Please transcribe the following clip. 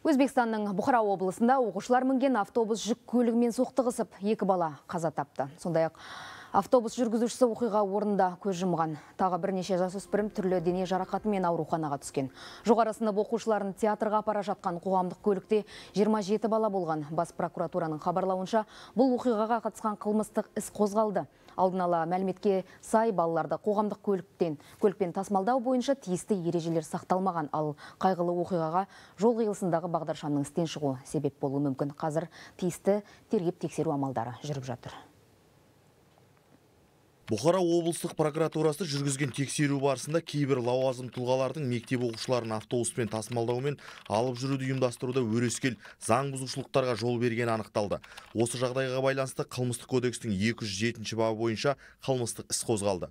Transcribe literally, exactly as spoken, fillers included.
Өзбекстанның Бұхара облысында оқушылар мінген автобус жүк көлігімен соқтығысып, екі бала қаза тапты. Сондай-ақ автобус жүргізушісі оқиға орнында көз жұмған. Тағы бірнеше жасөспірім түрлі дене жарақатымен ауруханаға түскен. Жоғары сынып оқушыларын театрға апара жатқан қоғамдық көлікте жиырма жеті бала болған. Бас прокуратураның хабарлауынша, бұл оқиғаға қатысқан қылмыстық іс қозғалды. Алдын ала мәліметке сай балаларды қоғамдық көліктен көлікпен тасымалдау бойынша тиісті ережелер сақталмаған, ал қайғылы оқиғаға жол қиылысындағы бағдаршамның істен шығуы себеп болуы мүмкін. Қазір тиісті тергеп тексеру амалдары жүріп жатыр. Бұхара облыстық прокуратурасы жүргізген тексеру барысында кейбір лауазым тұлғалардың мектеп оқушыларын автобуспен тасымалдаумен алып жүруді ұйымдастыруда өрескел заң бұзушылықтарға жол бергені анықталды. Осы жағдайға байланысты қылмыстық кодекстің екі жүз жетінші бабы бойынша қылмыстық іс қозғалды.